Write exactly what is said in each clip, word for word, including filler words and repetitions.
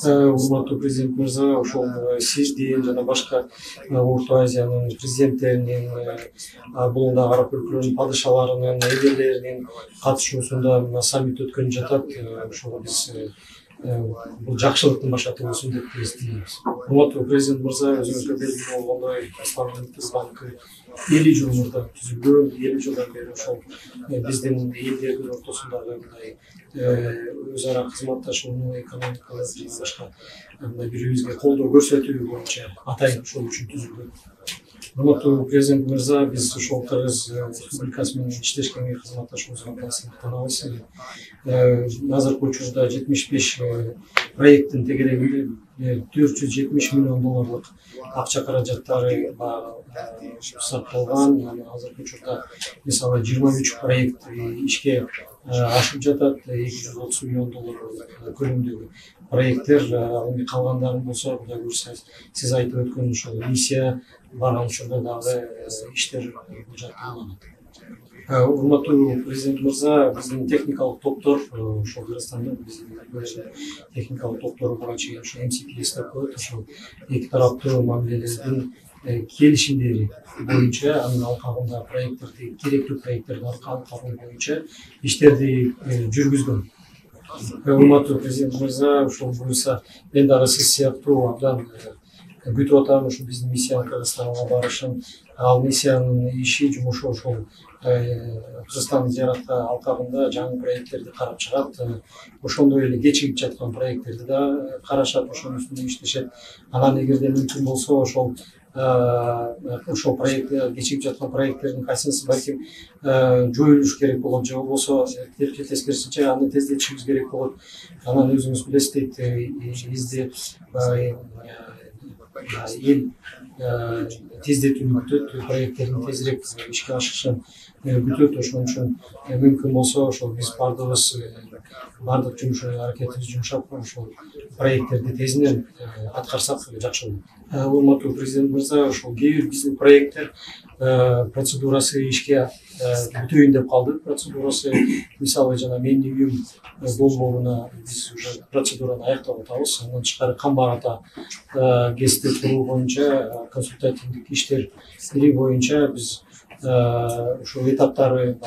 Урматтуу президент мырза, ошол сиздин жана башка Орто Азиянын президенттеринин, булундагы араб өлкөлөрүнүн падышаларынын, элдерлеринин катышуусунда саммит өткөнүп жатат. Ошого биз бул жакшылыктын башаты болсун деп эстейбиз. Урматтуу президент мырза, өзүңүзгө белгилүү болгондой, Исламдын банкы элүү жыл мурда түзүлгөн, элүү жылдан бери ошол биздин элдердин ортосундагы мындай өз ара кызматташууну, экономикалык жана башка мындай бири бирибизге колдоо көрсөтүү боюнча атайын ошол үчүн түзүлгөн. Урматтуу президент мырза, биз ошол Кыргыз Республикасы менен иштешкенге кызматташуубузга абдан сыймыктанабыз. Азыркы учурда жетимиш беш проекттин тегерегинде төрт жүз жетимиш миллион долларлык акча каражаттары сакталган. Азыркы учурда мисалы жыйырма үч проект ишке ашып жатат. эки жүз отуз миллион доллар көлөмдөгү проекттер. Эми калгандарын болсо, Кудай буйрса, сиз айтып өткөн ушул миссия барган учурда дагы иштер жатталган. Урматтуу президент мырза, биздин техникалык топтор ошол Кыргызстанда биздин техникалык топтору буга чейин ошо эм си пи эс деп коет, ошол эки тараптуу мамилелердин келишимдери боюнча, анын алкагында проекттерди, керектүү проекттерди алкагы боюнча иштерди жүргүзгөн. Урматтуу президент мырза, ошол буюрса, мен дагы сиз сыяктуу абдан күтүп атам ушу биздин миссиянын Кыргызстанга барышын. Ал миссиянын иши, жумушу ошол Кыргызстан зыяратка алкагында жаңы проекттерди карап чыгат. Ошондой эле кечигип жаткан проекттерди да карашат, ошонун үстүндө иштешет. Анан эгерде мүмкүн болсо, ошол ошол проект кечигип жаткан проекттердин кайсынысы балким жоюлуш керек болот, же болбосо тескерисинче аны тездетишибиз керек болот. Анан өзүңүз билесиз, бизде эл тездетүүнү күтөт, проекттердин тезирээк ишке ашышын күтөт. Ошон үчүн мүмкүн болсо, ошол биз баардыгыбыз баардык жумуш аракетибизди жумшап, ошол проекттерди тезинен аткарсак жакшы болот. Урматтуу президент мырза, ошол кээ бир биздин проекттер процедурасы ишке бүтөйүн деп калды. Процедурасы, мисалы, жана Менди үйүм долбооруна биз уже процедураны аяктап атабыз. Андан тышкары Камбар ата ГЭСти куруу боюнча консультативдик иштери боюнча биз ушул этаптары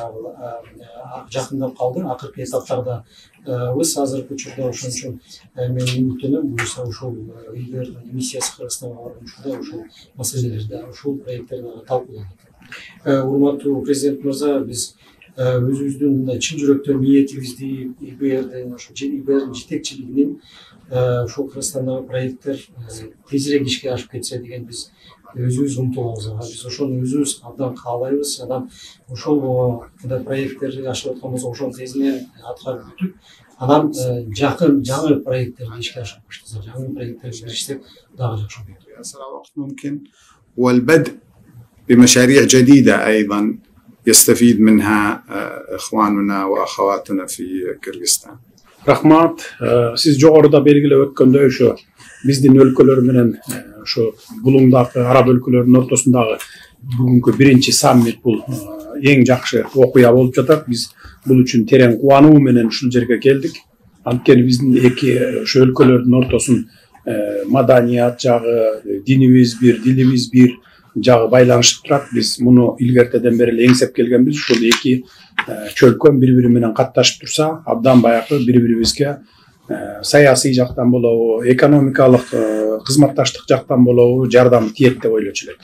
жакындап калды. Акыркы этаптарда биз азыркы учурда ошон үчүн мен үмүттөнөм, буюрса ушул элдердин миссиясы Кыргызстанга барган учурда ушул маселелерди, ушул проекттерди талкууланат. Урматтуу президент мырза, биз өзүбүздүн мындай чын жүрөктөн ниетибизди, ИБРдин ошо ИБРдин жетекчилигинин ушул Кыргызстандагы проекттер тезирээк ишке ашып кетсе деген биз өзүбүз умтулабыз. Биз ошону өзүбүз абдан каалайбыз. Анан ошол мындай проекттерди ашып аткан болсо, ошону тезинен аткарып бүтүп, анан жакын жаңы проекттерди ишке ашып баштаса, жаңы проекттерди киришсек дагы жакшы болот. ممكن والبدء بمشاريع جديدة أيضا يستفيد منها إخواننا وأخواتنا في كыргызстан. Рахмат. Сиз жогоруда белгилеп өткөндөй, ошо биздин өлкөлөр менен ошо булуңдагы араб өлкөлөрүнүн ортосундагы бүгүнкү биринчи саммит бул эң жакшы окуя болуп жатат. Биз бул үчүн терең кубануу менен ушул жерге келдик. Анткени биздин эки ошо өлкөлөрдүн ортосун маданият жагы, динибиз бир, дилибиз бир жагы байланышып турат. Биз муну илгертеден бери эле эңсеп келгенбиз. Ушул эки чөлкөм бири-бири менен катташып турса, абдан баягы бири-бирибизге саясий жактан болобу, экономикалык кызматташтык жактан болобу жардам тиет деп ойлочу элек.